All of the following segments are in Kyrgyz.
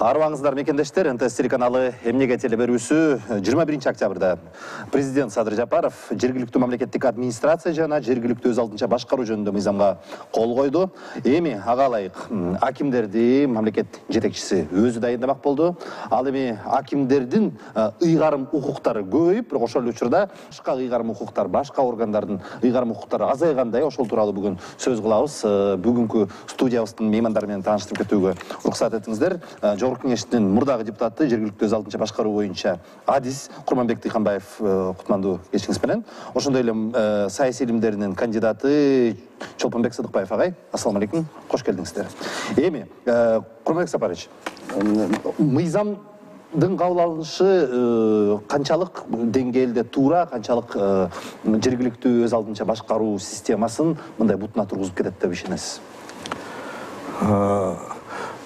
Арыбаңыздар мекендештер, НТС телеканалы эмнеге телеберүүсү 21 октябрда президент Садыр Жапаров жергиликтүү мамлекеттик администрация жана жергиликтүү өз алдынча башкаруу жөнүндө мыйзамга кол койду. Эми ага ылайык акимдерди мамлекет жетекчиси өзү дайындамак болду. Ал эми акимдердин ыйгарым укуктары көбөйүп, бирок ошол учурда башка ыйгарым укуктар, башка органдардын ыйгарым укуктары азайгандай, ошол тууралуу бүгүн сөз кылабыз. Бүгүнкү студиябыздын меймандары менен тааныштырып кетүүгө уруксат этиңиздер. Жогорку кеңештин мурдагы депутаты, жергиликтүү өз алдынча башкаруу боюнча адис Курманбек Тыйханбаев, кутмандуу кечиңиз менен. Ошондой эле саясий илимдеринин кандидаты Чолпонбек Сыдыкбаев агай, ассалам алейкум, кош келдиңиздер. Эми Курманбек Сапарович, мыйзамдын кабыл алынышы канчалык деңгээлде туура, канчалык жергиликтүү өз алдынча башкаруу системасын мындай бутуна тургузуп кетет деп ишенесиз?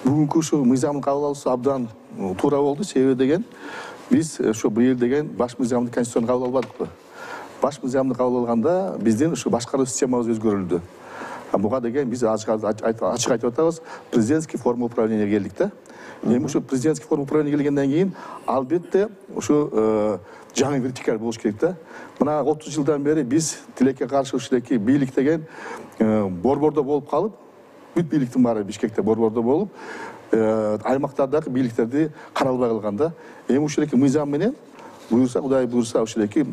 Бүгүнкү ушу мыйзамдын кабыл алуусу абдан туура болду. Себеби деген биз ошо быйыл деген баш мыйзамды конституцияны кабыл албадыкпы? Баш мыйзамды кабыл алганда биздин ушу башкаруу системабыз өзгөрүлдү. Буга деген биз ачык айтып атабыз, президентский форма управления келдик да. Эми ушу президентский форма управления келгенден кийин албетте ушу жаңы вертикаль болуш керек да. Мына 30 жылдан бери биз тилекке каршы ушундайки бийлик деген борбордо болуп калып, бүт бийликтин баары Бишкекте борбордо болуп, аймактардагы бийликтерди каралбай калган да. Эми ушундайки мыйзам менен буюрса, Кудай буюрса, ушундайки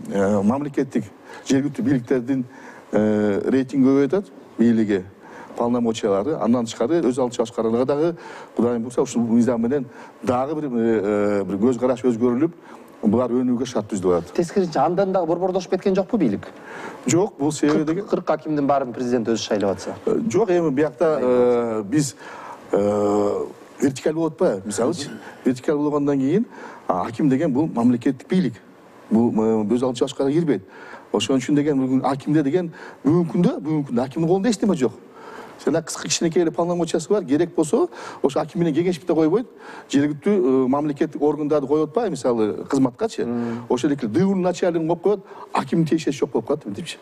мамлекеттик жергиликтүү бийликтердин рейтинги көбөйөт, бийлиги, полномочиялары, андан тышкары өз алдынча башкарууга дагы Кудай буюрса ушул мыйзам менен дагы бир көз караш өзгөрүлүп, булар өнүүгө шарт түздүп атат. Тескерисинче андан дагы борбордошуп кеткен жокпу бийлик? Жок, бул себеби деген 40 акимдин баарын президент өзү шайлап атса. Жок, эми биякта биз вертикаль болуп атпайбы? Мисалычы, вертикаль болгондон кийин аким деген бул мамлекеттик бийлик. Бул өз алдынча башкарууга кирбейт. Ошон үчүн деген бүгүн акимде деген бүгүнкү күндө акимдин колунда эч неме жок. Жана кыска кичинекей эле полномочиясы бар, керек болсо ошо аким менен кеңешип да койбойт. Жергиликтүү мамлекеттик органдарды коюп атпайбы, мисалы кызматкачы. Ошол эле ДУнун начальнигин коюп коет, акимдин тиешеси жок болуп калат мынтипчи.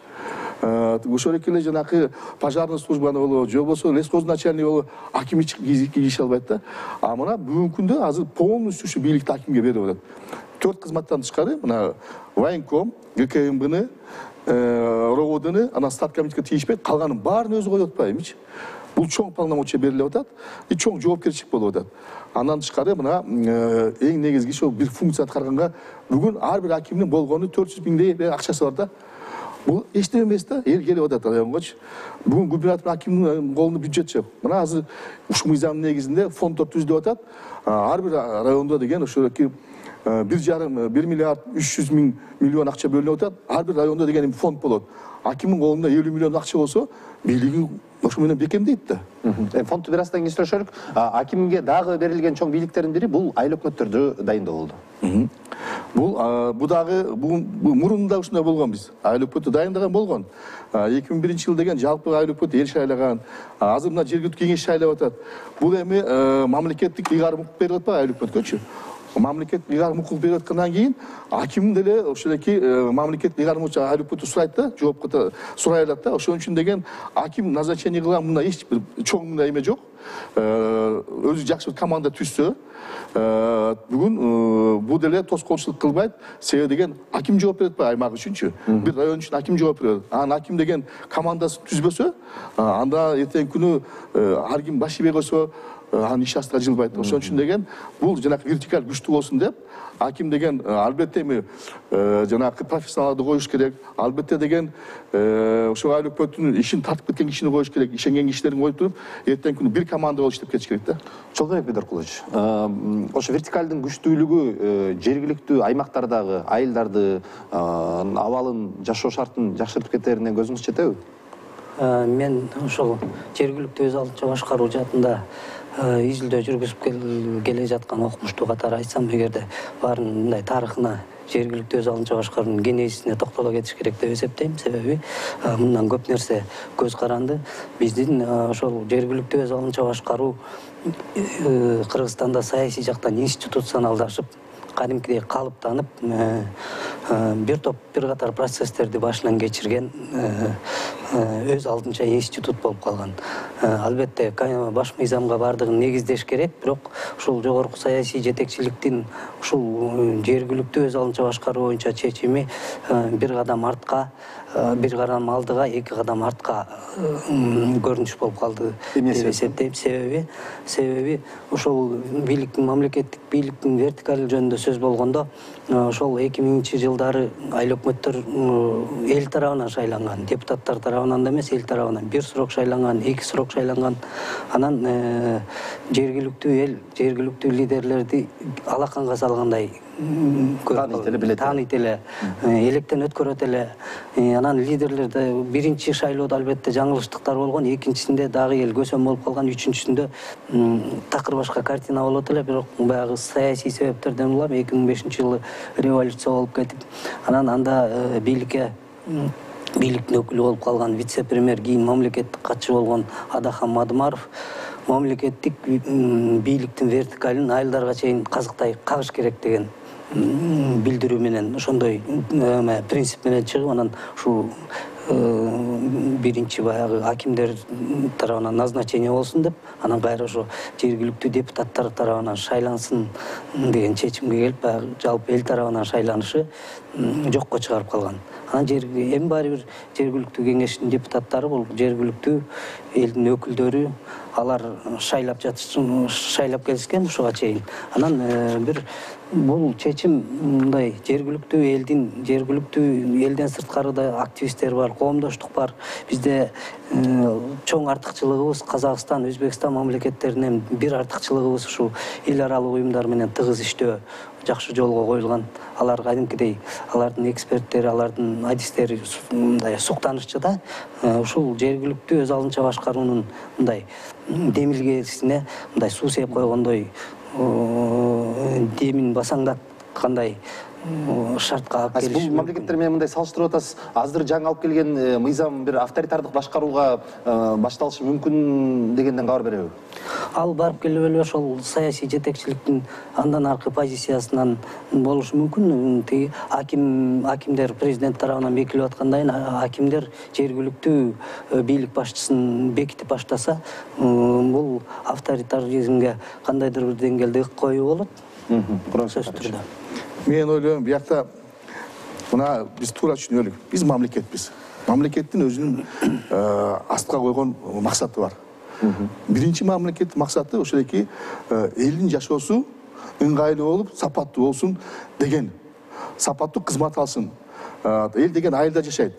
Ошол эле жанакы пожарный службаны болобу, же болбосо лесхоз начальниги болобу, аким кийише албайт да. А мына бүгүнкү күндө азыр полностью ушу бийликти акимге берип атат. 4 кызматтан тышкары мына военком, ГКМБны, РОВДны, анан статкомитетке тийишпейт, калганын баарын өзү коюп атпайбычы. Бул чоң полномочия берилип атат, чоң жоопкерчилик болуп атат. Андан тышкары мына эң негизги ошо бир функция аткарганга бүгүн ар бир акимдин болгону 400 миңдей акчасы бар да. Бул эч неме эмес да, эл келип атат районгочу. Бүгүн губернатор акимдин колунда бюджет жок. Мына азыр ушул мыйзамдын негизинде фонддор түзүлүп атат. Ар бир райондо деген ошоки 1,5 миллиард 300 миллион акча бөлүнүп атат. Ар бир райондо деген фонд болот. Акимдин колунда 50 миллион акча болсо, бийлиги ошо менен бекемдейт да. Фондду бир аздан кийин сүрөшөлүк. Акимге дагы берилген чоң бийликтердин бири бул айыл өкмөттөрдү дайындоо болду. Бул дагы мурунда ушундай болгон биз. Айыл өкмөтү дайындаган болгон. 2001 деген жалпы айыл өкмөтү эл шайлаган. Азыр мына жергиликтүү кеңеш шайлап атат. Бул эми мамлекеттик ыйгарым укук берип атпайбы айыл өкмөткөчү? Мамлекет ыйгарым укук берип аткандан кийин аким деле ошолеки мамлекет ыйгарым айыл өкмөтү сурайт да, жоопко сурай алат да. Ошон үчүн деген аким назначение кылган мындай эч бир чоң мындай эме жок. Өзү жакшы команда түзсө, бүгүн бул деле тоскоолчулук кылбайт. Себеби деген аким жооп берет атпайбы аймак үчүнчү? Бир район үчүн аким жооп берет. Анан аким деген командасын түзбөсө, анда эртеңки күнү ар ким баш ийбей койсо, анын иш астына жылбайт. Ошон үчүн деген бул жанакы вертикаль күчтүү болсун деп, аким деген албетте эми жанакы профессионалды коюш керек. Албетте деген ошо айыл өкмөттүн ишин тартып кеткен кишини коюш керек. Ишенген кишилерин коюп туруп, эртеңки күнү бир команда болуп иштеп кетиш керек да. Чолпонбек Бедоркулович, ошо вертикалдын күчтүүлүгү жергиликтүү аймактардагы айылдарды, абалын, жашоо шартын жакшыртып кетерине көзүңүз жетеби? Мен ошол жергиликтүү өз алдынча башкаруу жаатында изилдөө жүргүзүп келе жаткан окумуштуу катары айтсам, эгерде баарын мындай тарыхына, жергиликтүү өз алдынча башкаруунун генезисине токтоло кетиш керек деп эсептейм. Себеби мындан көп нерсе көз каранды. Биздин ошол жергиликтүү өз алдынча башкаруу Кыргызстанда саясий жактан институционалдашып, кадимкидей калыптанып, бир катар процесстерди башынан кечирген өз алдынча институт болуп калган. Албетте баш мыйзамга бардыгын негиздеш керек, бирок ушул жогорку саясий жетекчиликтин ушул жергиликтүү өз алдынча башкаруу боюнча чечими бир кадам артка, бир кадам алдыга, эки кадам артка көрүнүш болуп калды деп эсептейм. Себеби ошол бийликтин, мамлекеттик бийликтин вертикали жөнүндө сөз болгондо, ошол 2000-жылдары айыл өкмөттөр эл тарабынан шайланган, депутаттар тарабынан да эмес, эл тарабынан бир срок шайланган, эки срок шайланган. Анан жергиликтүү эл, жергиликтүү лидерлерди алаканга салгандай тааныйт эле, электен өткөрөт эле. Анан лидерлерде биринчи шайлоодо албетте жаңылыштыктар болгон, экинчисинде дагы эл көсөм болуп калган, үчүнчүсүндө такыр башка картина болот эле. Бирок баягы саясий себептерден улам 2005-жылы революция болуп кетип, анан анда бийликтин өкүлү болуп калган вице-премьер, кийин мамлекеттик катчы болгон Адахан Мадымаров мамлекеттик бийликтин вертикалин айылдарга чейин казыктай кагыш керек деген билдирүү менен, ошондой принцип менен чыгып, анан ушул биринчи баягы акимдер тарабынан назначение болсун деп, анан кайра ошо жергиликтүү депутаттар тарабынан шайлансын деген чечимге келип, баягы жалпы эл тарабынан шайланышы жокко чыгарып калган. Анан эми баары бир жергиликтүү кеңештин депутаттары, бул жергиликтүү элдин өкүлдөрү, алар шайлап келишкен ушуга чейин. Анан бир бул чечим мындай жергиликтүү элден сырткары да активисттер бар, коомдоштук бар. Бизде чоң артыкчылыгыбыз Казакстан, Өзбекстан мамлекеттеринен бир артыкчылыгыбыз ушул эл аралык уюмдар менен тыгыз иштөө жакшы жолго коюлган. Алар кадимкидей, алардын эксперттери, алардын адистери мындай суктанышчу да. Ушул жергиликтүү өз алдынча башкаруунун мындай демилгесине мындай суу сээп койгондой, демин басаңдаткандай шартка алып келиши. Бул мамлекеттер менен мындай салыштырып атасыз. Азыр жаңы алып келген мыйзам бир авторитардык башкарууга башталышы мүмкүн дегенден кабар береби? Ал барып келип эле ошол саясий жетекчиликтин андан аркы позициясынан болушу мүмкүн. Тиги акимдер президент тарабынан бекилип аткандан кийин акимдер жергиликтүү бийлик башчысын бекитип баштаса, бул авторитаризмге кандайдыр бир деңгээлде ык коюу болот. Сөзсүз түрдө. Мен ойлойм, биякта мына биз туура түшүнөлүк. Биз мамлекетпиз. Мамлекеттин өзүнүн астка койгон максаты бар. Биринчи мамлекеттин максаты ошоки элдин жашоосу ыңгайлуу болуп, сапаттуу болсун деген, сапаттуу кызмат алсын. Эл деген айылда жашайт,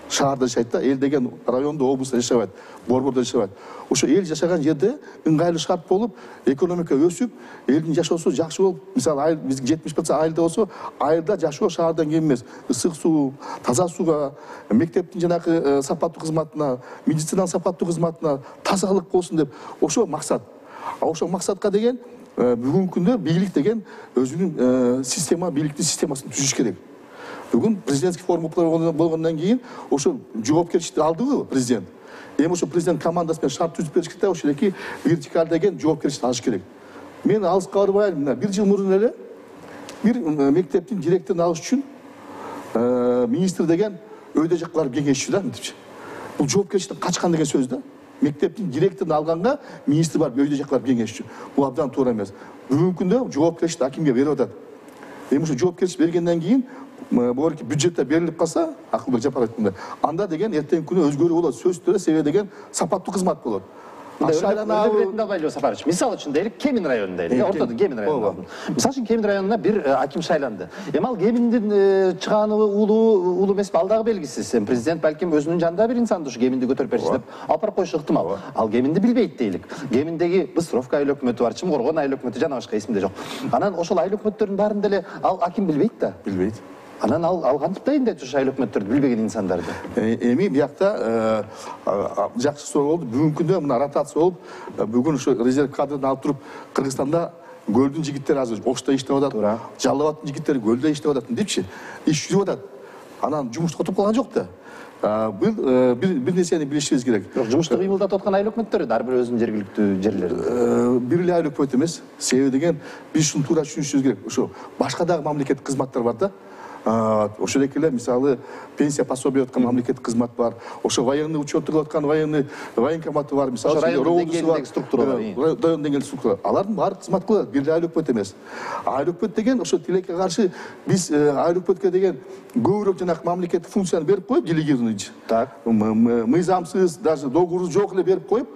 шаарда жашайт да, эл деген райондо, облустта жашабайт, борбордо жашабайт. Ошо эл жашаган жерде ыңгайлуу шарт болуп, экономика өсүп, элдин жашоосу жакшы болуп, мисалы айыл биз 70% айылда болсо, айылда жашоо шаардан кем эмес. Ысык суу, таза сууга, мектептин жанагы сапаттуу кызматына, медицинаның сапаттуу кызматына, тазалык болсун деп, ошо максат. Ошо максатка деген бүгүнкү күндө бийлик деген өзүнүн бийликтин системасын түзүш керек. Бүгүн президентский форма болгондон кийин ошо жоопкерчиликти алдыбы президент. Эми ошо президент командасы менен шарт түзүп бериш керек да, ошоки вертикаль деген жоопкерчиликти алыш керек. Мен алыска барбайм, мына 1 жыл мурун эле бир мектептин директорун алыш үчүн министр деген өйдө жакка барып кеңешчү да, мынтипчи. Бул жоопкерчиликтен качкан деген сөз да. Мектептин директорун алганга министр барып өйдө жакка барып кеңешчү. Бул абдан туура эмес. Бүгүнкү күндө жоопкерчиликти акимге берип атат. Эми ошо жоопкерчилик бергенден кийин бөөрки бюджетте берилип калса, Акылбек Жапаров айткандай, анда деген эртеңки күнү өзгөрүү болот. Сөзсүз түрдө себеби деген сапаттуу кызмат болот. Шайланабы албайлы Сапарович. Мисалы үчүн дейли, Кемин районунда дейли, ортодо Кемин районунда. Мисалы үчүн Кемин районуна бир аким шайланды. Эми ал Кеминдин чыгааны уулу эмеспи, ал дагы белгисиз. Президент балким өзүнүн жанында бир инсанды ушу Кеминди көтөрүп берчи деп алып барып коюшу ыктымал. Ал Кеминди билбейт дейлик. Кеминдеги Быстровка айыл өкмөтү бар, Чымкоргон айыл өкмөтү, жана башка эсимде жок. Анан ошол айыл өкмөттөрдүн баарында эле ал аким билбейт да. Билбейт. Анан ал кантип дайындайт ушу айыл өкмөттөрдү билбеген инсандарды? Эми биякта жакшы суроо болду. Бүгүнкү күндө мына ротация болуп, бүгүн ушу резерв кадрдан алып туруп, Кыргызстанда көлдүн жигиттери азыр Ошто иштеп атат, Жалал абадтын жигиттери көлдө иштеп атат депчи. Иш жүрүп атат. Анан жумуш тотуп калган жок да. Бир нерсени билишибиз керек. Бирок жумушту кыймылдатып аткан айыл өкмөттөрү ар бир өзүнүн жергиликтүү жерлеринде. Бир эле айыл өкмөт эмес. Себеби деген биз ушуну туура түшүнүшүбүз керек. Ошо башка дагы мамлекеттик кызматтар бар да. ошол эле мисалы пенсия пособие аткан мамлекеттик кызмат бар, ошо военный учеттук аткан военкоматы бар, мисалы райондун деңгээлиндеги структуралар. район деңгээлдеги структура. Алардын баары кызмат кылат, бир эле айыл өкмөт эмес. Айыл өкмөт деген ошо тилекке каршы биз айыл өкмөткө деген көбүрөөк жанагы мамлекеттик функцияны берип коюп, делегированный. Так. Мыйзамсыз, даже договору жок эле берип коюп,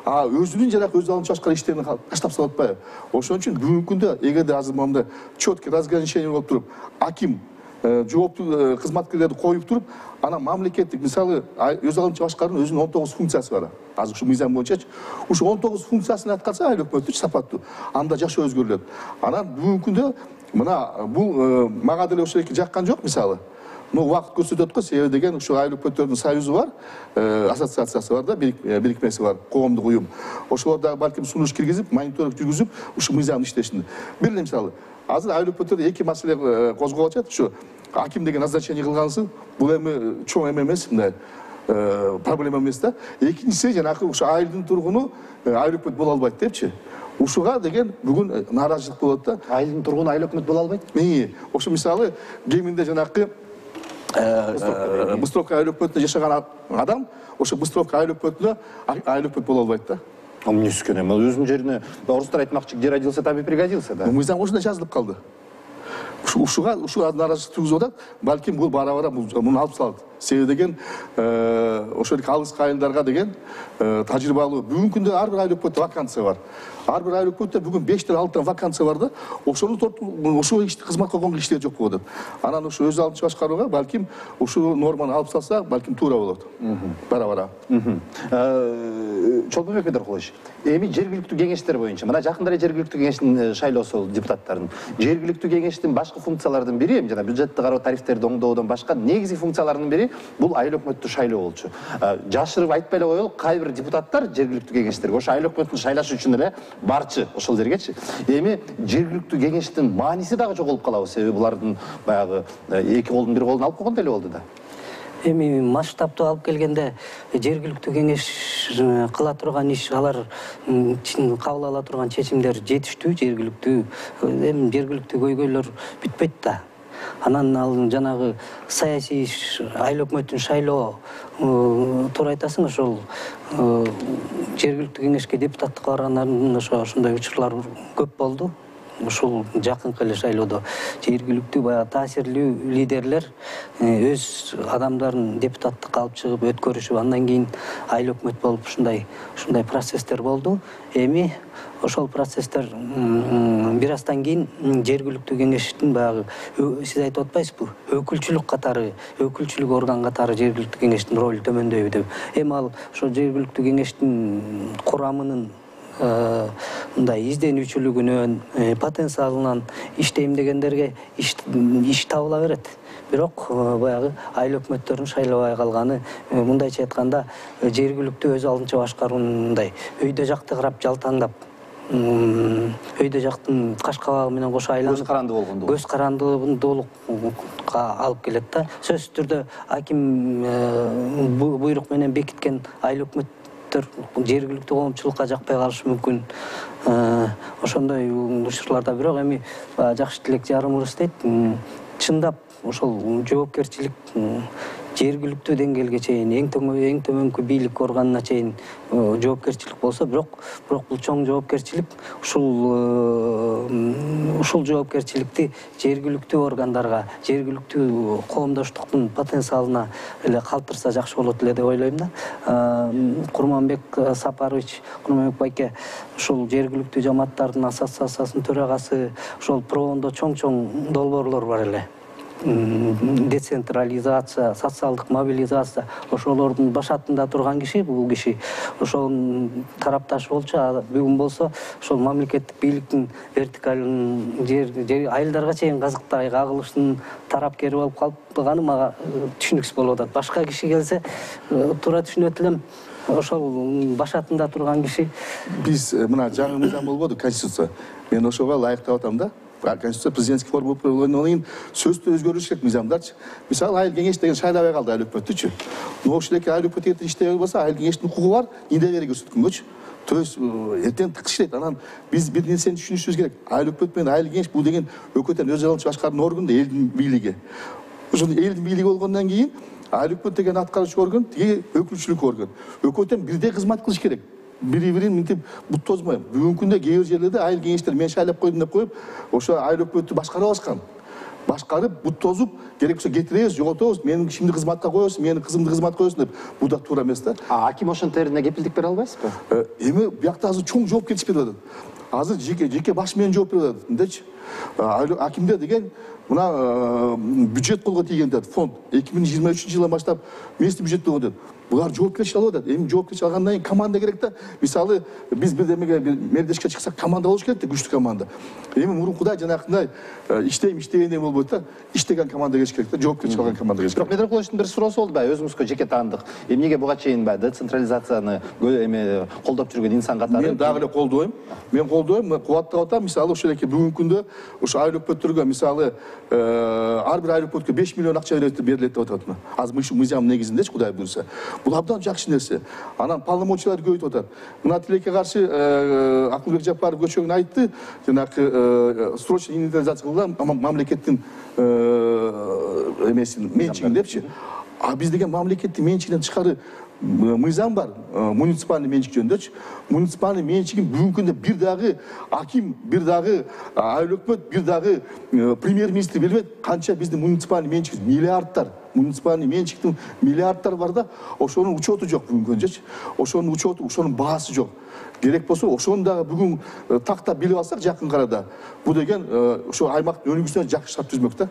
өзүнүн жанагы өз алдынча башка иштерин таштап салып атпайбы. Ошон үчүн бүгүнкү күндө эгерде азыр момундай четкий разграничение болуп туруп, аким жооптуу кызматкерлерди коюп туруп, анан мамлекеттик мисалы өз алдынча башкаруунун өзүнүн 19 функциясы бар. Азыр ушу мыйзам боюнчачы ушу 19 функциясын аткарса айыл өкмөтү сапаттуу, анда жашоо өзгөрүлөт. Анан бүгүнкү күндө мына бул мага деле ошол эки жаккан жок мисалы. Убакыт көрсөтөт го, себеби деген ушу айыл өкмөттөрдүн союзу бар, ассоциациясы бар да, бирикмеси бар, коомдук уюм. Ошолор дагы балким сунуш киргизип, мониторинг жүргүзүп, ушу мыйзамдын иштешин. Бир эле мисалы, азыр айыл өкмөттөрдө эки маселе козголуп атат. Ушу аким деген назначение кылгансыз, бул эми чоң эме эмес, мындай проблема эмес да. Экинчиси жанагы ушу айылдын тургуну айыл өкмөт боло албайт депчи. Ушуга деген бүгүн нааразычылык болот да. Айылдын тургуну айыл өкмөт боло албайт? Ошо мисалы кеминде жанагы Быстровка айыл өкмөтүндө жашаган адам ошо Быстровка айыл өкмөтүнө айыл өкмөт боло албайт да. Эмнеси экен эми өзүнүн жерине орустар айтмакчы, где родился, там и пригодился да. Мыйзам ошондой жазылып калды. Ушуга нааразычылык тугузуп атат. Балким бул бара-бара муну алып салат. Себеби деген ошол алыскы айылдарга деген тажрыйбалуу. Бүгүнкү күндө ар бир айыл өкмөттө вакансия бар. Ар бир айыл өкмөттө бүгүн 5-6 вакансия бар да. Ошону ошол ишти кызмат кылган кишилер жок болуп атат. Анан ушу өз алдынча башкарууга балким ушул норманы алып салса, балким туура болот. Бара-бара. Чолпонбек Бедеркулович, эми жергиликтүү кеңештер боюнча, мына жакында эле жергиликтүү кеңештин шайлоосу болду депутаттардын. Жергиликтүү кеңештин башкы функцияларынын бири, эми жана бюджетти кароо, тарифтерди оңдоодон башка негизги функцияларынын бири бул айыл өкмөттү шайлоо болчу. Жашырып айтпай эле коелу, кай бир депутаттар жергиликтүү кеңештерге ошо айыл өкмөтүн шайлаш үчүн эле барчы ошол жергечи. Эми жергиликтүү кеңештин мааниси дагы жоголуп калабы, себеби булардын баягы эки колдун бир колун алып койгондой эле болду да. Эми масштабтуу алып келгенде жергиликтүү кеңеш кыла турган иш, алар кабыл ала турган чечимдер жетиштүү, эми жергиликтүү көйгөйлөр бүтпөйт да. Анан ал жанагы саясий иш, айыл өкмөтүн шайлоо туура айтасың, ошол жергиликтүү кеңешке депутаттыкка баргандардан ошондой учурлар көп болду. Ушул жакынкы эле шайлоодо жергиликтүү баягы таасирлүү лидерлер өз адамдарын депутаттыкка алып чыгып өткөрүшүп, андан кийин айыл өкмөт болуп ушундай процесстер болду. Эми ошол процесстер бир аздан кийин жергиликтүү кеңештин баягы сиз айтып атпайсызбы, өкүлчүлүк орган катары жергиликтүү кеңештин ролу төмөндөйбү деп. Эми ал ошол жергиликтүү кеңештин курамынын мындай изденүүчүлүгүнөн, потенциалынан иштейм дегендерге иш табыла берет. Бирок баягы айыл өкмөттөрүн шайлабай калганы, мындайча айтканда, жергиликтүү өз алдынча башкаруундай өйдө жакты карап жалтаңдап, өйдө жактын каш кабагы менен кошо айланып, көз карандуулукка алып келет да. Сөзсүз түрдө аким буйрук менен бекиткен айыл өкмөт жергиликтүү коомчулукка жакпай калышы мүмкүн. Ошондой учурларда, бирок эми жакшы тилек жарымыбыз дейт, чындап ошол жоопкерчилик жергиликтүү деңгээлге чейин, эң төмөнкү бийлик органына чейин жоопкерчилик болсо, бирок бул чоң жоопкерчилик, ушул жоопкерчиликти жергиликтүү органдарга, жергиликтүү коомдоштуктун потенциалына эле калтырса жакшы болот эле деп ойлойм да. Курманбек Сапарович, Курманбек байке, ушул жергиликтүү жамааттардын ассоциациясынын төрагасы, ошол пробондо чоң долбоорлор бар эле. Децентрализация, социалдык мобилизация, ошолордун башатында турган киши, бул киши ошонун тарапташы болчу. Бүгүн болсо ошол мамлекеттик бийликтин вертикалын айылдарга чейин казыктай кагылышынын тарапкери болуп калганы мага түшүнүксүз болуп атат. Башка киши келсе туура түшүнөт элем. Ошол башатында турган киши. Биз мына жаңы мыйзам болбоду, конституция. Мен ошого ылайыктап атам да. Конституция президентский форма болгондон кийин сөзсүз өзгөрүш керек мыйзамдарчы. Мисалы айыл кеңеш деген шайлабай калды айыл өкмөттүчү. Ошол эки айыл өкмөт иштебей болсо, айыл кеңештин укугу бар, индебери көрсөткөнгөчү. То есть эртең тык иштейт. Анан биз бир нерсени түшүнүшүбүз керек. Айыл өкмөт менен айыл кеңеш бул деген өкмөттөн өз алынчы башкаруу орган да элдин бийлиги. Ошол элдин бийлиги болгондон кийин айыл өкмөт деген аткаруучу орган, тиги өкүлчүлүк орган. Өкмөттөн бирдей кызмат кылыш керек. Бири-бирин мынтип бут тозмой. Бүгүнкү күндө кээ бир жерлерде айыл кеңештер мен шайлап койдум деп коюп, ошо айыл өкмөттү башкара алышкан. Башкарып, бут тозуп, керек болсо кетиребиз, жоготобуз, менин кишимди кызматка коесуң, менин кызымды кызматка коесуң деп. Бул да туура эмес да. Аким ошонтерине кепилдик бере албайсызбы? Эми биякта азыр чоң жоопкерчилик берип атат. Азыр жеке баш менен жооп берип атат. Мындайчы. Акимдер деген мына бюджет колго тийген деп фонд 2023-жылдан баштап местный бюджет болгон деп. Булар жоопкерчилик алып атат. Эми жоопкерчилик алгандан кийин команда керек да. Мисалы биз бир демеге мердешке чыксак команда болуш керек да, күчтүү команда. Эми мурункудай жанакындай иштегендей болбойт да. Иштеген команда келиш керек да, жоопкерчилик алган команда келиш керек. Бирок Медрекуловичтин бир суроосу болду баягы өзүңүзгө жеке таандык. Эмнеге буга чейин баягы децентрализацияны эме колдоп жүргөн инсан катары? Мен дагы эле колдойм. Мен колдойм, кубаттап атам. Мисалы ошол эки бүгүнкү күндө ошо айыл өкмөттөргө мисалы ар бир айыл өкмөткө 5 миллион акча берилет деп атат. Азыр мыйшу мыйзам негизиндечи, Кудай буйрса. Бул абдан жакшы нерсе. Анан полномочияларды көбөйтүп атат. Мына тилекке каршы Акылбек Жапаров көчөгүн айтты. Жанагы срочный инвентаризация кылган мамлекеттин эмесин менчигин депчи. А биз деген мамлекеттин менчигинен тышкары мыйзам бар, муниципальный менчик жөнүндөчү. Муниципальный менчигин бүгүнкү күндө бир дагы аким, бир дагы айыл өкмөт, бир дагы премьер-министр бербейт. Канча биздин муниципальный менчик миллиардтар, муниципальный менчиктин миллиардтар бар да, ошонун учету жок бүгүнкү күндөчү. Ошонун учету, ошонун баасы жок. Керек болсо ошону дагы бүгүн тактап билип алсак жакын арада, бул деген ошо аймактын өнүгүүсүнө жакшы шарт түзмөк да.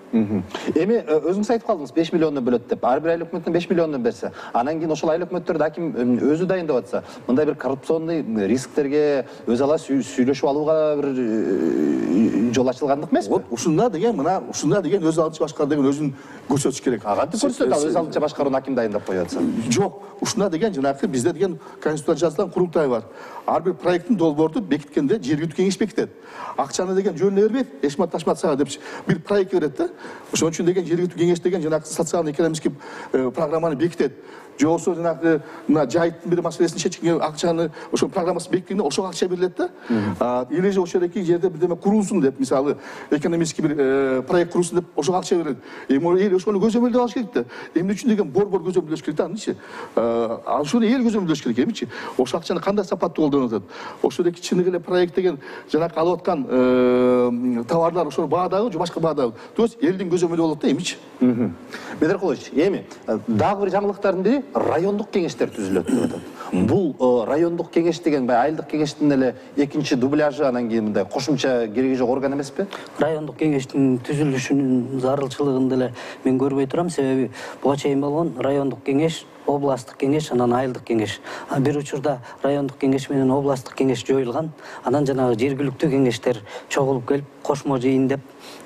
Эми өзүңүз айтып калдыңыз 5 миллиондон бөлөт деп. Ар бир айыл өкмөтүнөн 5 миллиондон берсе, анан кийин ошол айыл өкмөттөрдү аким өзү дайындап атса, мындай бир коррупционный рисктерге өз ала сүйлөшүп алууга бир жол ачылгандык эмеспи? Вот ушунда деген мына ушунда деген өз алынчы башкаруу деген өзүн көрсөтүш керек. Кантип көрсөтөт ал өз алынча башкарууну аким дайындап коюп атса? Жок, ушунда деген жанагы бизде деген конституцияда жазылган курултай бар. Ар бир проекттин долбоорду бекиткенде жергиликтүү кеңеш бекитет. Акчаны деген жөнүнө бербейт, эшмат ташмат сага депчи бир проект берет да. Ошон үчүн деген жергиликтүү кеңеш деген жанагы социально экономический программаны бекитет. Же болбосо жанагы мына жайыттын бир маселесин чечкенге акчаны ошо программасы бекиткенде ошого акча берилет да. Или же ошол эки жерде бирдеме курулсун деп, мисалы экономический бир проект курулсун деп ошого акча берилет. Эми эл ошону көзөмөлдөп алыш керек да. Эмне үчүн деген борбор көзөмөлдөш керек да анычы. Ошону эл көзөмөлдөш керек эмичи. Ошол акчаны кандай сапаттуу колдонуп атат? Ошол эки чыныгы эле проект деген жанагы алып аткан товарлар ошол баадагы же башка баадагы. То есть элдин көзөмөлү болот да эмичи. Медрекулович, эми дагы бир жаңылыктардын бири райондук кеңештер түзүлөт деп атат. Бул райондук кеңеш деген баягы айылдык кеңештин эле экинчи дубляжы, анан кийин мындай кошумча кереги жок орган эмеспи? Райондук кеңештин түзүлүшүнүн зарылчылыгын деле мен көрбөй турам, себеби буга чейин болгон райондук кеңеш, областтык кеңеш, анан айылдык кеңеш. Бир учурда райондук кеңеш менен областтык кеңеш жоюлган. Анан жанагы жергиликтүү кеңештер чогулуп келип, кошмо жыйын деп,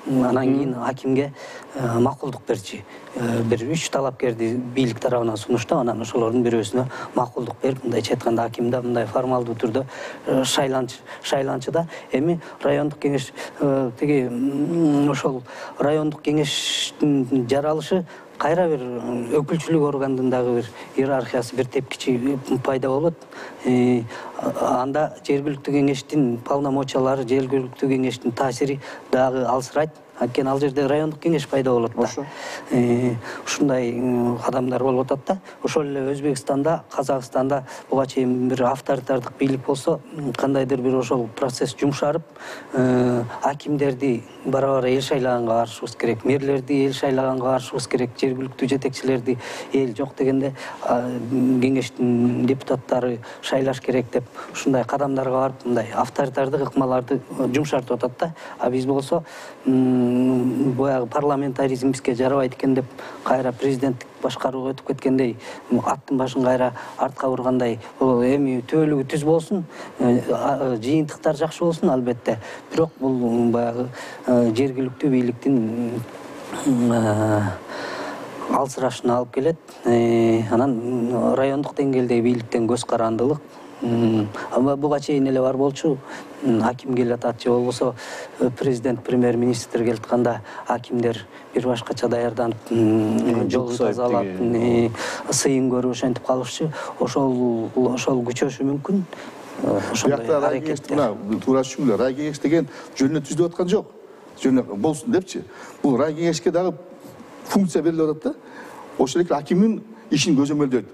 анан кийин акимге макулдук берчи. Бир 3 талапкерди бийлик тарабынан сунуштап, анан ошолордун бирөөсүнө макулдук берип, мындайча айтканда акимде мындай формалдуу түрдө шайланчы да. Эми райондук кеңеш тиги ошол райондук кеңештин жаралышы кайра бир өкүлчүлүк органдын дагы бир иерархиясы, бир тепкичи пайда болот. Анда жергиликтүү кеңештин полномочиялары, жергиликтүү кеңештин таасири дагы алсырайт. Анткени ал жерде райондук кеңеш пайда болот да. Ушундай кадамдар болуп атат да. Ошол эле Өзбекстанда, Казакстанда буга чейин бир авторитардык бийлик болсо, кандайдыр бир ошол процесс жумшарып, акимдерди бара-бара эл шайлаганга барышыбыз керек, мэрлерди эл шайлаганга барышыбыз керек, жергиликтүү жетекчилерди эл жок дегенде кеңештин депутаттары шайлаш керек деп ушундай кадамдарга барып, мындай авторитардык ыкмаларды жумшартып атат да. А биз болсо баягы парламентаризм бизге жарабайт экен деп кайра президенттик башкарууга өтүп кеткендей, аттын башын кайра артка бургандай, эми түбөлүгү түз болсун, жыйынтыктар жакшы болсун албетте. Бирок бул баягы жергиликтүү бийликтин алсырашына алып келет. Анан райондук деңгээлдеги бийликтен көз карандылык. Буга чейин эле бар болчу, аким келатат же болбосо президент, премьер-министр келатканда акимдер бир башкача даярданып, жолду тазалап, сыйын көрүп ошентип калышчу. Ошол күчөшү мүмкүн. Биякта рай кеңешти мына туура түшүнгүлөр. Рай кеңеш деген жөнүнө түзүлүп аткан жок. Жөнүнө болсун депчи. Бул рай кеңешке дагы функция берилип атат да. Ошол эле акимдин ишин көзөмөлдөйт.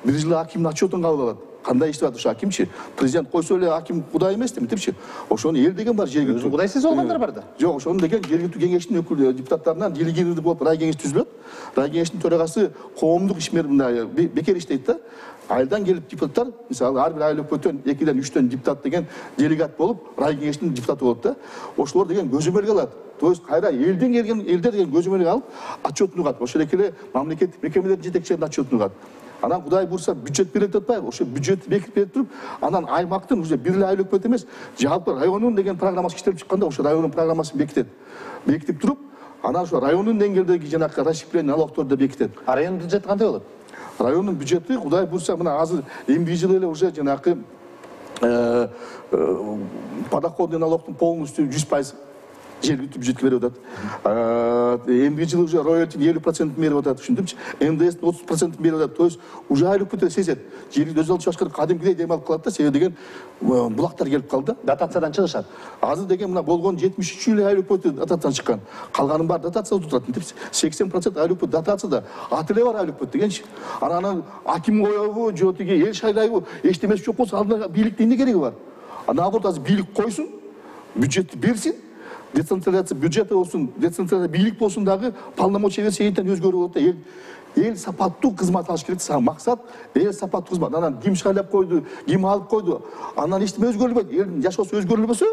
Бир жылы акимдин отчетун кабыл алат. Кандай иштеп атат ошо акимчи? Президент койсо эле аким кудай эмес демекчи. Ошону эл деген бар жергиликтүү. Өзү кудайсыз болгондар бар да. Жок, ошону деген жергиликтүү кеңештин өкүл депутаттарынан делегированный болуп рай кеңеш түзүлөт. Рай кеңештин төрагасы коомдук ишмер мындай бекер иштейт да. Айылдан келип депутаттар, мисалы, ар бир айыл өкмөттөн 2-ден 3төн депутат деген делегат болуп, рай кеңештин депутаты болот да. Ошолор деген көзөмөлгө алат. То есть кайра элден келген элдер деген көзөмөлгө алып, отчетун угат. Ошол эле мамлекеттик мекемелердин жетекчилеринин отчетун угат. Анан кудай бурса бюджет берилип атпайбы? Ошо бюджетти бекитип берип туруп, анан аймактын уже бир эле айыл өкмөт эмес, жалпы районун деген программасы иштелип чыкканда, ошо районун программасын бекитет. Бекитип туруп, анан ошо районун деңгээлдеги жанагы расщепление налогторду бекитет. А райондун бюджети кандай болот? Райондун бюджети кудай бурса мына азыр эмки жылы эле уже жанагы подоходный налогдун полностью 100% жергиликтүү бюджетке берип атат. Эмки жылы уже роялтинин 50% берип атат, түшүндүңчү? НДСтин 30% берип атат. То есть уже айыл өкмөттөр сезет. Жергиликтүү өз алчу башкар кадимкидей дем алып калат да, себеби деген булактар келип калды. Дотациядан чыгышат. Азыр деген мына болгон 73 эле айыл өкмөтү дотациядан чыккан. Калганын баары дотацияда турат. 80% айыл өкмөт дотацияда. Аты эле бар айыл өкмөт дегенчи. Анан аким коебу, же тиги эл шайлайбы, эчтемеси жок болсо алдына бийликтин эмне кереги бар? Наоборот, азыр бийлик койсун, бюджетти берсин. Децентрализация бюджети болсун, децентрализация бийлик болсун дагы полномочия берсе энтен өзгөрүп болот да. Эл сапаттуу кызмат алыш керек. Максат эл сапаттуу кызмат. Анан ким шайлап койду, ким алып койду, анан эчтеме өзгөрүлбөйт. Элдин жашоосу өзгөрүлбөсө,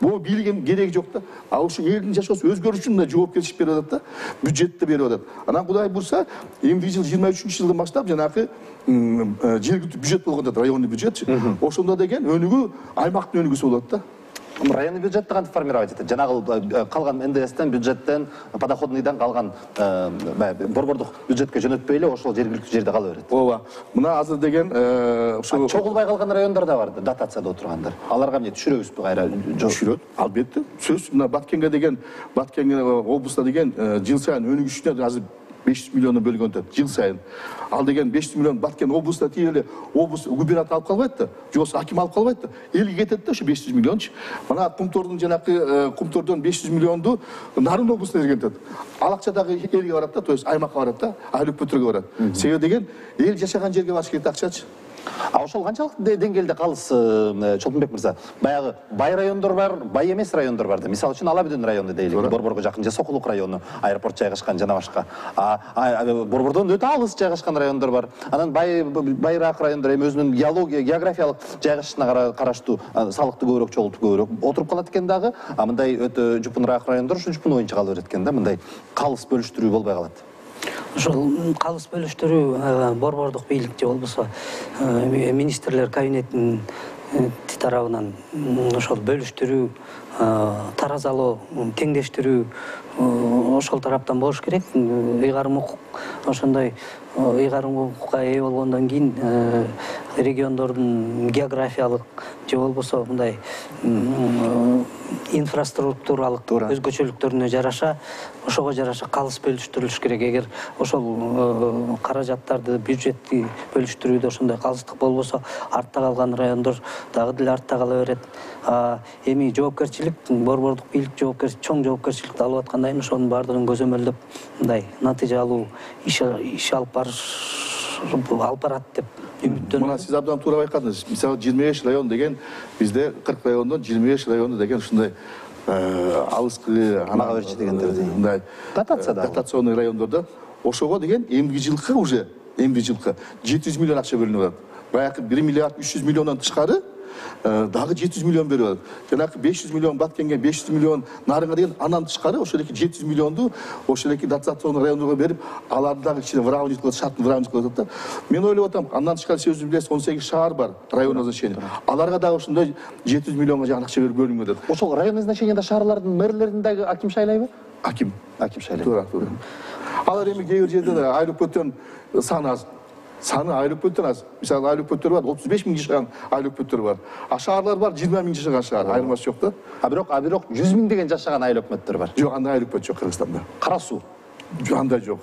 бул бийлик кереги жок да. А ошо элдин жашоосу өзгөрүш үчүн да жоопкерчилик берип атат да, бюджетти берип атат. Анан кудай бурса, эмки жыл 23-жылдан баштап жанагы жергиликтүү бюджет болгон да, районный бюджетчи. Ошондо деген өнүгүү аймактын өнүгүүсү болот да. Районный бюджетти кантип формировать этет? Жанагы калган НДСтен, бюджеттен, подоходныйдан калган борбордук бюджетке жөнөтпөй эле ошол жергиликтүү жерде кала берет. Ооба. Мына азыр деген ошо чогулбай калган райондар да бар, дотацияда отургандар. Аларга эмне түшүрөбүзбү кайра? Түшүрөт, албетте. Сөз мына Баткенге деген, Баткен облусуна деген жыл сайын өнүгүшүнө азыр 500 миллиону бөлгөн атат жыл сайын. Ал деген 500 миллион Баткен облусуна тиеле облус губернатор алып калбайт да, жобосу аким алып калбайт да. Элге кетет да ошо 500 миллиончу. Мына Кумтордун жанакы Кумтордон 500 миллионду Нарын облусуна берген атат. Ал акча дагы элге барат да, то есть аймакка барат да, айыл өкмөттөргө барат. Себеби деген эл жашаган жерге барыш керек акчачы. А ошол канчалык деңгээлде калыс, Чолпонбек мырза? Баягы бай райондор бар, бай эмес райондор бар да. Мисалы үчүн Ала Бүдүн району дейли, Борборго жакын, же Сокулук району, аэропорт жайгашкан жана башка. Борбордон өтө алыс жайгашкан райондор бар. Анан байыраак райондор эми өзүнүн географиялык жайгашышына караштуу салыкты көбүрөөк, чогултуп көбүрөөк отуруп калат экен дагы. А мындай өтө жупуныраак райондор ушу жупун боюнча кала берет экен да, мындай калыс бөлүштүрүү болбой калат. Ошол калыс бөлүштүрүү борбордук бийлик же болбосо министрлер кабинетинин тарабынан ошол бөлүштүрүү, таразалоо, теңдештирүү ошол тараптан болуш керек. Ыйгарым укук ошондой ыйгарым укукка ээ болгондон кийин региондордун географиялык же болбосо мындай инфраструктуралык өзгөчөлүктөрүнө жараша, ошого жараша калыс бөлүштүрүлүш керек. Эгер ошол каражаттарды, бюджетти бөлүштүрүүдө ошондой калыстык болбосо, артта калган райондор дагы деле артта кала берет. Эми жоопкерчилик, борбордук бийлик чоң жоопкерчиликти алып аткандан кийин ошонун баардыгын көзөмөлдөп, мындай натыйжалуу иш алып барат деп үмүттөнөм. Мына сиз абдан туура байкадыңыз. Мисалы 25 район деген бизде 40 райондон 25 району деген ушундай алыскы мага берчи дегендер мындай дотацияда, дотационный райондордо ошого деген эмки жылкы уже 700 миллион акча бөлүнүп атат. Баягы 1 миллиард 300 миллиондон тышкары дагы 700 миллион берип атат. Жанагы 500 миллион Баткенге, 500 миллион Нарынга деген андан тышкары ошол эки 700 миллионду ошол эки дотационный райондорго берип, аларды дагы кичине выравнивать кылып, шартын выравнивать кылып атат да. Мен ойлоп атам, андан тышкары сиз өзүңүз билесиз, 18 шаар бар, районное значение. Аларга дагы ушундай 700 миллионго жакын акча берип бөлүнгөн атат. Ошол районный значениеде шаарлардын мэрлерин дагы аким шайлайбы? Аким шайлайт. Туура. Алар эми кээ бир жерде айыл өкмөттөрүн саны аз. Саны айыл өкмөттөр аз. Мисалы айыл өкмөттөр бар, 35 миң жашаган айыл өкмөттөр бар. А шаарлар бар, 20 миң жашаган шаар. Айырмасы жок да. А бирок 100 миң деген жашаган айыл өкмөттөр бар. Жок, андай айыл өкмөт жок Кыргызстанда. Кара суу. андай жок.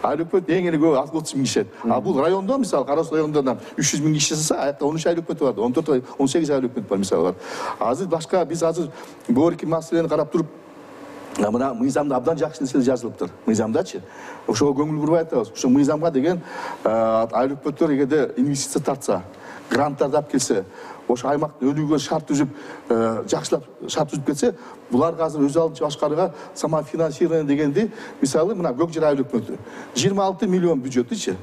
Айлык өкмөт эң эле көп 60 миң киши. А бул райондо мисалы Кара Суу районунда 300 миң киши жашаса, аякта 13 айлык өкмөт бар, 14 18 айлык өкмөт бар мисалы бар. Азыр башка биз азыр бөөрки маселени карап туруп мына мыйзамда абдан жакшы нерселер жазылыптыр. Мыйзамдачы. Ошого көңүл бурбай атабыз. Ошо мыйзамга деген айлык өкмөттөр эгерде инвестиция тартса, гранттарды алып келсе, ошо аймакты өнүгүүгө шарт түзүп, жакшылап шарт түзүп кетсе, буларга азыр өз алдынча башкарууга самофинансирование дегенди, мисалы мына Көк Жыр айлык өкмөтү 26 миллион бюджетичи,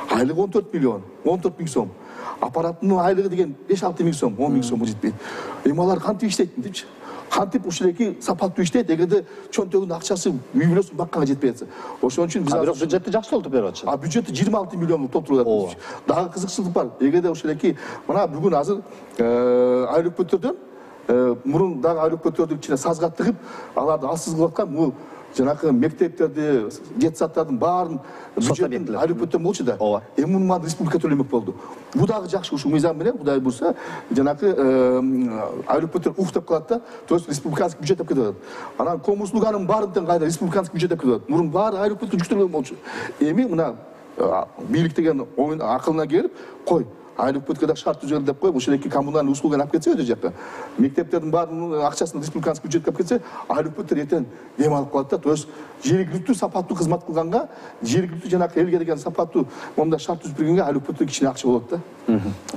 айлыгы 14 миллион, 14 миң сом. Аппараттын айлыгы деген 5-6 миң сом, 10 миң сомго жетпейт. Эми алар кантип иштейт депчи? Кантип ушулеки сапаттуу иштейт, эгерде чөнтөгүнүн акчасы үй бүлөсүн бакканга жетпей атса. Ошон үчүн биз азыр бюджетти жакшы толтуруп берип атышат. А бюджетти 26 миллионго толтуруп атат. Дагы кызыкчылык бар. Эгерде ушулеки мына бүгүн азыр айлык өкмөттөрдөн мурун дагы айлык өкмөттөрдүн ичине сазга тыгып, аларды алсыз кылып аткан бул жанакы мектептерди, детсаддардын баарын бюджеттин айлык өкмөттөн болчу да. Эми муну республика төлөмөк болду. Бул дагы жакшы, ушул мыйзам менен Кудай буйрса, жанакы айлык өкмөттөр уктап калат да, то есть республиканский бюджет деп кетип атат. Анан ком услуганын баарын тең кайда республиканский бюджет деп кетип атат. Мурун баары айлык өкмөткө жүктөлгөн болчу. Эми мына бийлик деген оюн акылына келип, кой айлык өкмөткө да шарт түзөлүп деп коюп, ошол эки коммуналдык услуганы алып кетсе өтө жакка. Мектептердин баарынын акчасын республиканский бюджетке алып кетсе, айлык өкмөттөр эртең дем алып калат да. То есть жергиликтүү сапаттуу кызмат кылганга, жергиликтүү жанакы элге деген сапаттуу момундай шарт түзүп бергенге айлык өкмөттөр кичине акча болот да.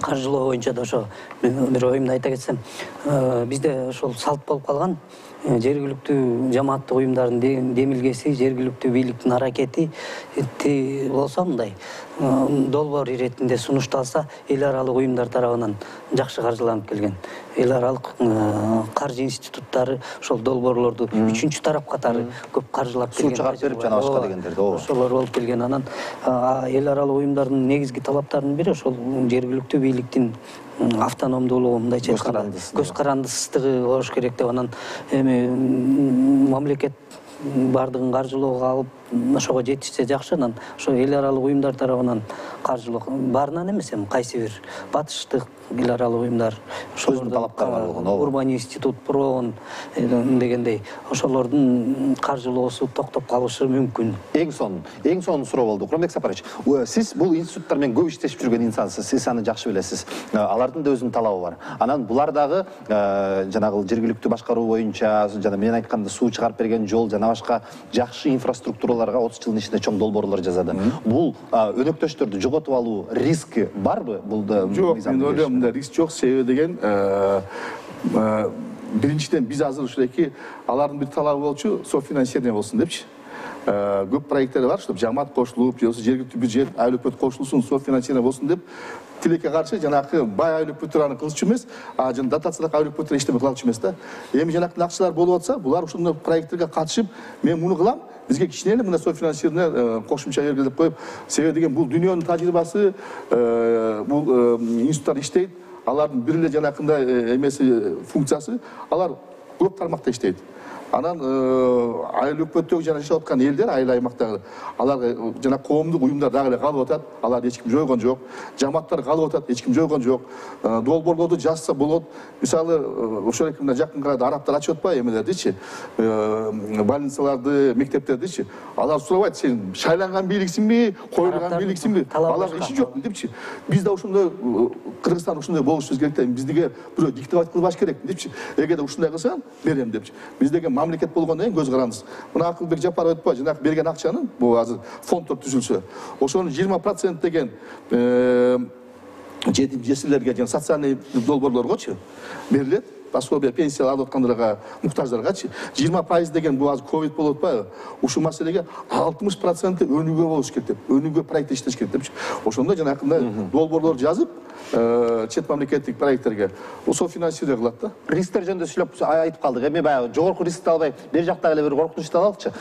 Каржылоо боюнча да ошо бир оюмду айта кетсем, бизде ошол салт болуп калган. Жергиликтүү жамааттык уюмдардын демилгеси, жергиликтүү бийликтин аракети болсо мындай долбоор иретинде сунушталса, эл аралык уюмдар тарабынан жакшы каржыланып келген. Эл аралык каржы институттары ошол долбоорлорду үчүнчү тарап катары көп каржылап келген. Суу чыгарып берип жана башка дегендерди. Ошолор болуп келген. Анан эл аралык уюмдардын негизги талаптарынын бири ошол жергиликтүү бийликтин автономдуулугу, мындайча айтканда көз карандысыздыгы болуш керек деп. Анан эми мамлекет бардыгын каржылоого алып, ошого жетишсе жакшы. Анан ошо эл аралык уюмдар тарабынан каржылоо баарынан эмес, эми кайсы бир батыштык эл аралык уюмдар, ошолордун талаптары бар болгон. Урбан институт, Проон дегендей, ошолордун каржылоосу токтоп калышы мүмкүн. Эң сонун суроо болду. Курамбек Сапарович, сиз бул институттар менен көп иштешип жүргөн инсансыз, сиз аны жакшы билесиз. Алардын да өзүнүн талабы бар. Анан булар дагы жанагы жергиликтүү башкаруу боюнча, жана мен айтканда суу чыгарып берген жол, жана башка жакшы инфраструктураларга 30 жылдын ичинде чоң долбоорлор жасады. Бул өнөктөштөрдү жоготуп алуу риски барбы? Бул да жок, мен ойлойм, риск жок. Себеби деген биринчиден биз азыр ушулеки алардын бир талабы болчу, софинансирование болсун депчи. Көп проекттер бар, чтобы жамаат кошулуп, же болбосо жергиликтүү бюджет, айлык өкмөт кошулсун, софинансирование болсун деп тилекке каршы жанакы бай айлык өкмөттөр аны кылчу эмес, жана дотациялык айлык өкмөттөр эчтеме кылчу эмес да. Эми жанакы акчалар болуп атса, булар ушундай проекттерге катышып, мен муну кылам, бизге кичине эле мына софинансирование кошумча бергиле деп коюп, себеби деген бул дүйнөнүн тажрыйбасы, бул институттар иштейт, алардын бир эле жанакындай эмеси функциясы, алар көп тармакта иштейт. Анан айыл өкмөттөгү жана жашап аткан элдер, айыл аймактагы, алар жана коомдук уюмдар дагы эле калып атат, аларды эч ким жойгон жок. Жамааттар калып атат, эч ким жойгон жок. Долбоорлорду жазса болот. Мисалы, ошол мына жакын арада арабтар ачып атпайбы эмелердичи, больницаларды, мектептердичи. Алар сурабайт, сен шайланган бийликсиңби, коюлган бийликсиңби? Алар иши жок депчи. Биз да ошондой Кыргызстан ушундай болушубуз керек да, биздиге бирөө диктовать кылбаш керек депчи. Эгерде ушундай кылсаң, берем депчи. Биз деген мамлекет болгондон кийин көз карандысыз. Мына Акылбек Жапаров айтпайбы, жанагы берген акчанын, бул азыр фонддор түзүлсө, ошонун 20% деген жетим жесирлерге жана социальный долбоорлоргочу берилет. Пособие, пенсия алып аткандарга, муктаждаргачы 20% деген бул азыр ковид болуп атпайбы? Ушул маселеге 60% өнүгүү болуш керек деп, өнүгүү проекти иштеш керек депчи. Ошондо жанакындай долбоорлор жазып, чет мамлекеттик проекттерге софинансирование кылат да. Рисктер жөнүндө сүйлөп айтып калдык. Эми баягы жогорку рискти албай, бер жактагы эле бир коркунучту алалычы.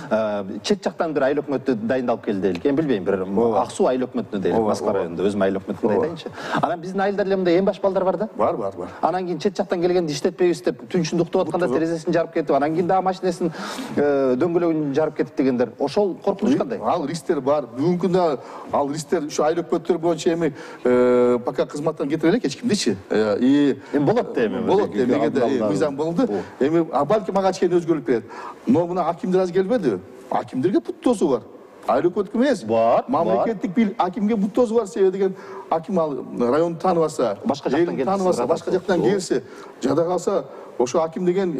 Чет жактан бир айыл өкмөттү дайындалып келди дейлик. Эми билбейм, бир Ак Суу айыл өкмөтүнө дейлик, Москва районунда өзүм айыл өкмөтүнө айтайынчы. Анан биздин айылдар эле мындай эң баш балдар бар да? Бар. Анан кийин чет жактан келгенди иштетпейбиз деп түнчүндө уктап атканда терезесин жарып кетип, анан кийин дагы машинесин дөңгөлөгүн жарып кетип дегендер. Ошол коркунуч кандай? Ал рисктер бар. Бүгүнкү күндө ал рисктер ушу айыл өкмөттөр боюнча эми пока кызматтан кетире элек эч кимдичи. Эми болот да эми. Болот эми мыйзам болду. Эми балки мага чейин өзгөрүп кетет. Но мына акимдер аз келбеди. акимдерге бут тоосу бар. Айлык өткү эмес. Бар, Мамлекеттик бийлик акимге бут тоосу бар. Себеби деген аким ал районду тааныбаса, башка жактан тааныбаса, башка жактан келсе, жада калса, ошо аким деген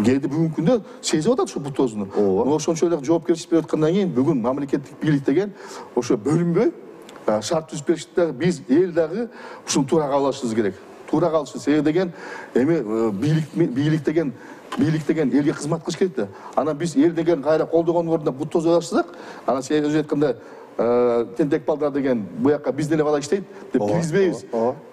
кээде бүгүнкү күндө сезип атат ошо бут тоосуну. Ошончо эле жоопкерчилик берип аткандан кийин бүгүн мамлекеттик бийлик деген ошо бөлүнбөй шарт түзүп беришти дагы биз эл дагы ушуну туура кабыл алышыбыз керек. Туура кабыл алыш. Себеби деген эми бийлик деген элге кызмат кылыш керек да. Анан биз эл деген кайра колдогондун ордуна бут тоосуп алышсак, анан сен өзү айтканда тентек балдар деген буяка биз деле бала иштейт деп киргизбейбиз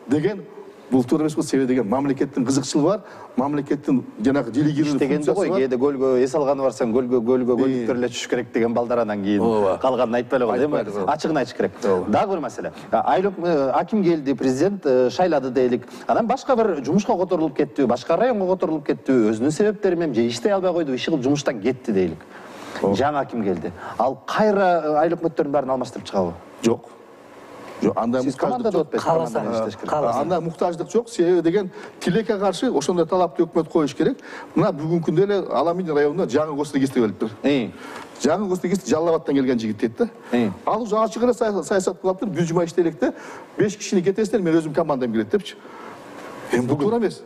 деген бул туура эмес болот. Себеби деген мамлекеттин кызыкчылыгы бар, мамлекеттин жанагы делегированный дегенде го кээде көлгө эс алганы барсаң көлдүктөр эле түшүш керек деген балдар анан кийин калганын айтпай эле коет, эми ачыгын айтыш керек. Дагы бир маселе. Аким келди, президент шайлады дейли. Анан башка бир жумушка которулуп кетти, башка районго которулуп кетти, өзүнүн себептери менен же иштей албай койду, иши кылып жумуштан кетти дейли. Жаңы аким келди. Ал кайра айлык өкмөттөрдүн баарын алмаштырып чыгабы? Жок. Анда командада отпайсыз. Анда муктаждык жок. Себеби деген тилекке каршы ошондой талапты өкмөт коюш керек. Мына бүгүнкү күндө эле Аламин районунда жаңы госрегистр келиптир. Жаңы госрегистр Жалал Абадтан келген жигит дейт да. Ал уже ачык эле саясат кылаптыр. Бир жума иштей элек да. 5 кишини кетесиздер, мен өзүм командам келет депчи. Бул туура эмес.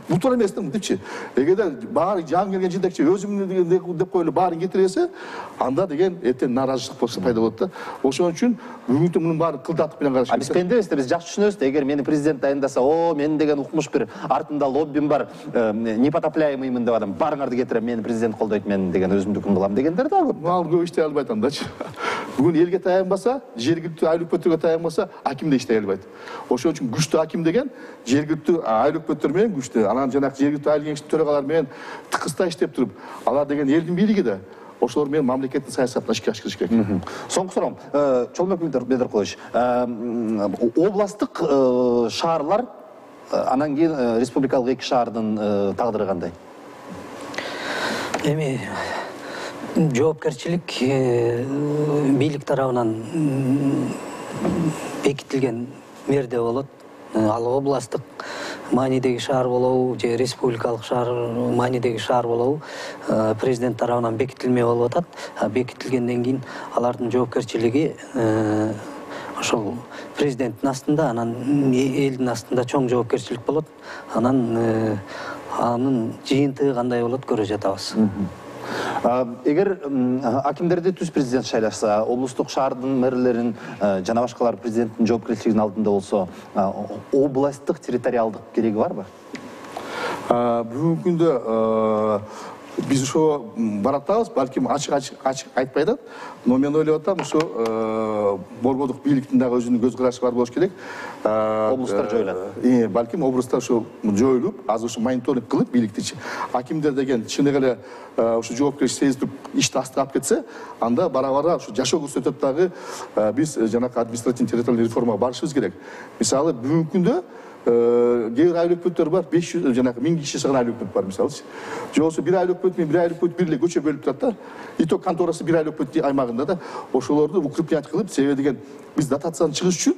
Бул туура эмес депчи. Эгерде баары жаңы келген жетекчи өзүм деп коюлуп баарын кетиресе, анда деген эртең нааразычылык пайда болот да. Ошон үчүн бүгүнкү мунун баарын кылдатып менен караш керек. Биз пенде эмеспиз, биз жакшы түшүнөбүз да. Эгер мени президент дайындаса, мен деген укмуш бир артымда лоббим бар, непотопляемыймын деп адам, барыңарды кетирем, мени президент колдойт, мен деген өзүмдүкүн кылам дегендер да көп. Ал көп иштей албайт андачы. Бүгүн элге таянбаса, жергиликтүү айлык өкмөттөргө таянбаса, аким да иштей албайт. Ошон үчүн күчтүү аким деген жергиликтүү айлык өкмөттөр менен күчтүү, анан жанагы жергиликтүү айыл кеңештин төрагалары менен тыкырстай иштеп туруп, алар деген элдин бийлиги да. Ошолор менен мамлекеттин саясатына ишке ашкырыш керек. Соңку суроом, Чолмок Бедеркулович, областтык шаарлар, анан кийин республикалык 2 шаардын тагдыры кандай? Эми жоопкерчилик бийлик тарабынан бекитилген мээрде болот. Ал областтык маанидеги шаар болобу же республикалык шаар маанидеги шаар болобу президент тарабынан бекитилмей болуп атат. Бекитилгенден кийин алардын жоопкерчилиги ошол президенттин астында, анан элдин астында чоң жоопкерчилик болот. Анан анын жыйынтыгы кандай болот көрө жатабыз. Эгер акимдерди түз президент шайлашса, облустук шаардын мэрлерин жана башкалар президенттин жоопкерчилигинин алдында болсо, областтык территориалдык кереги барбы? Бүгүнкү күндө биз ошо баратабыз, балким ачык айтпай атат, но мен ойлоп атам, ошо борбордук бийликтин дагы өзүнүн көз карашы бар болуш керек. Облустар жоюлат. Балким облустар ошо жоюлуп, азыр ошо мониторинг кылып бийликтичи. Акимдер деген чыныгы эле ошо жоопкерчилик сезип ишти астыга алып кетсе, анда бара-бара ошо жашоо көрсөтөт дагы биз жанагы административный территориальный реформага барышыбыз керек. Мисалы бүгүнкү күндө кээ бир айлык өкмөттөр бар, 500 жанагы 1000 киши чыган айлык өкмөт бар мисалычы. Же болбосо бир айлык өкмөт менен бир айлык өкмөт бир эле көчө бөлүп турат да. Иток конторасы бир айлык өкмөт аймагында да. Ошолорду укреплять кылып, себеби деген биз дотацияны чыгыш үчүн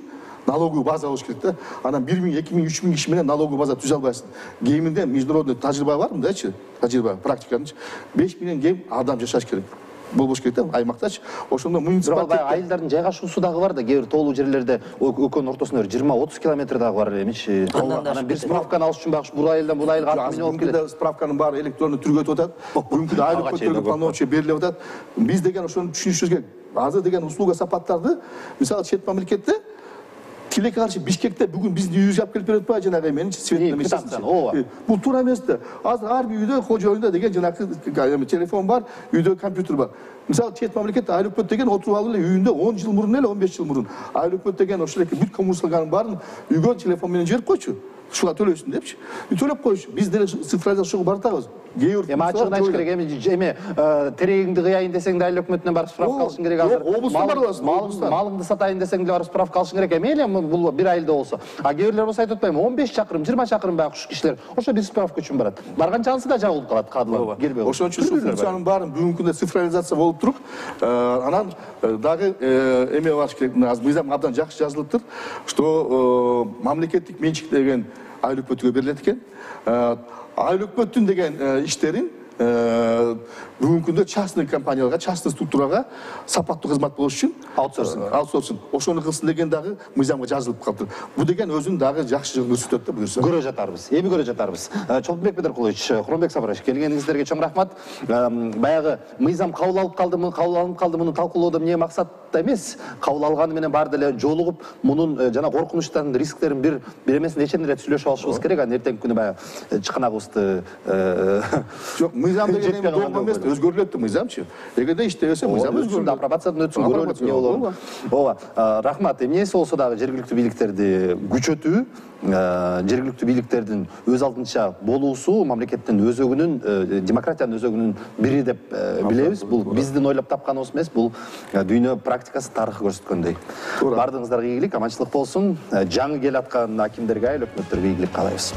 налоговый база болуш керек да. Анан 1000, 2000, 3000 киши менен налоговый база түзө албайсың. Кеминде международный тажрыйба бар мындайчы? Тажрыйба, практиканычы. 5 миллион кем адам жашаш керек. Болбош керек да, аймактачы. Ошондо муниципалитет айылдардын жайгашуусу дагы бар да, кээ бир тоолуу жерлерде экөөнүн ортосунда 20-30 километр дагы бар эмичи. Анан бир справканы алыш үчүн багыш бул айылдан бул айылга 6 миллион болуп келет. Справканын баары электрондуу түргө өтүп атат. Бүгүнкү айлык өкмөттөргө полномочия берилип атат. Биз деген ошону түшүнүшүбүз керек. Азыр деген услуга сапаттарды, мисалы чет мамлекетте тилекке каршы Бишкекте бүгүн биздин үйүбүзгө алып келип берип атпайбы жанагы эменичи светный месяцчи. Бул туура эмес да. Азыр ар бир үйдө кожоюнда деген жанагы телефон бар, үйдө компьютер бар. Мисалы чет мамлекетте айлык өкмөт деген отуруп алып эле үйүндө 10 жыл мурун эле 15 жыл мурун айлык өкмөт деген ошол эки бүт коммуналдын баарын үйгө телефон менен жиберип койчу. Шуга төлөйсүң депчи. Төлөп койчу. Биз деле цифровизацияга баратабыз. Эми ачыгын айтыш керек, эми терегиңди кыяйын десең да айлык өкмөтүнөн барып справка алышың керек азыр. Облустан барып аласың. Малыңды сатайын десең деле барып справка алышың керек. Эми эле бул бир айылда болсо. А кээ бирлер болсо айтып атпаймынбы, 15 чакырым, 20 чакырым баягы кишилер. Ошо бир справка үчүн барат. Барган чансы да жабылып калат, кадрлар кирбей. Ошон үчүн ушул функциянын баарын бүгүнкү күндө цифровизация болуп туруп, анан дагы эме барыш керек. Азыр мыйзам абдан жакшы жазылыптыр, что мамлекеттик менчик деген айлык өкмөткө берилет экен. Айлык өкмөттүн деген иштерин бүгүнкү күндө частный компанияларга, частный структурага сапаттуу кызмат болуш үчүн аутсорсинг ошону кылсын деген дагы мыйзамга жазылып калыптыр. Бул деген өзүн дагы жакшы көрсөтөт да буюрса. Көрө жатарбыз. Эми көрө жатарбыз. Чолпонбек Бедеркулович, Куронбек Сабырович, келгениңиздерге чоң рахмат. Баягы мыйзам кабыл алып калды, муну талкуулоодо эмне максатта эмес, кабыл алганы менен баары деле жолугуп, мунун жана коркунучтарын, рисктерин бир эмесин эченден эле түзүлүшүп алышыбыз керек. Анан эртеңки күнү баягы чыканагыбызды жок, мыйзам деген эми догма эмес, өзгөрүлөт да мыйзамчы. Эгерде иштебесе мыйзам өзгөрүлөт. Апробациядан өтсүн, көрөлүк эмне болобу. Ооба, рахмат. Эмнеси болсо дагы жергиликтүү бийликтерди күчөтүү, жергиликтүү бийликтердин өз алдынча болуусу мамлекеттин өзөгүнүн, демократиянын өзөгүнүн бири деп билебиз. Бул биздин ойлоп тапканыбыз эмес, бул дүйнө практикасы, тарыхы көрсөткөндөй. Бардыгыңыздарга ийгилик, аманчылык болсун. Жаңы келаткан акимдерге, айыл өкмөттөргө ийгилик каалайбыз.